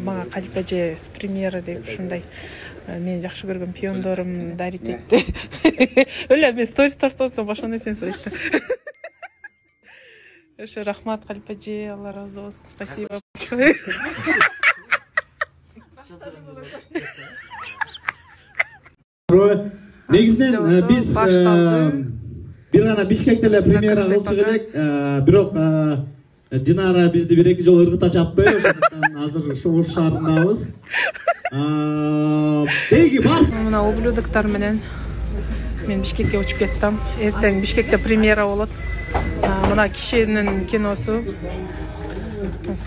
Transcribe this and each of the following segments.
мага Калипа эже с премьера деп ушундай мен жакшы көргөн пиондорум дарит этти. Өлө мен сторис тартып атсам башка нерсени сурайт да. Ошо рахмат Калипа эже, Алла разы болсун. Спасибо. Негизинен биз бир гана Бишкекте эле премьера кылчу элек, бирок Динара бизди бир-эки жолу ыргыта чапты. Ошондуктан азыр Ош шаарындабыз. Деги барсын. Мына ублюдоктор менен мен Бишкекке учуп кеттим. Эртең Бишкекте премьера болот. Мына кишинин киносу.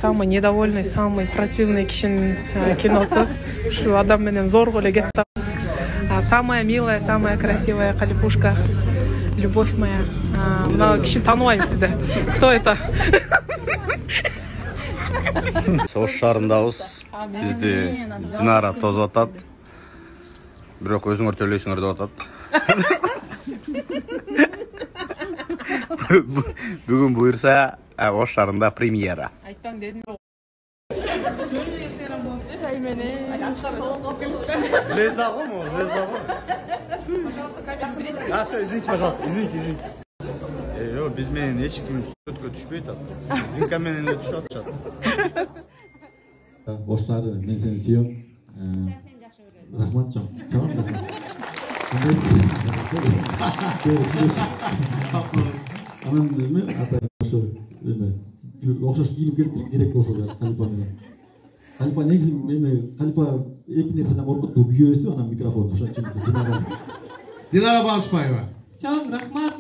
Самый недовольный, самый противный кишинин киносу. Ушу адам менен зорго эле кетти. Самая милая, самая красивая Калипушка. Любовь моя. Мына кишини тааныбайм сизди. Кто это? Ош шаарындабыз. Бизди Динара тозуп атат. Бирок өзүңөр төлөйсүңөр деп атат. Бүгүн буюрса Ош шаарында премьера. Айтпаң дедим. Звезда го? Звезда го? Все, извините, пожалуйста, извините. Биз менен эч ким сүрөткө түшпөйт атат. Динка менен эле түшүп атышат. Ош шаары, мен сени сүйөм. Рахмат жан. Анан эме ата ошо эме окшош кийинип келип керек болсо да Калипа менен. Калипа негизи эме Калипа эки нерседен коркот, бул күйөөсү, анан микрофон. Ошон үчүн Динара Балышбаева. Чоң рахмат.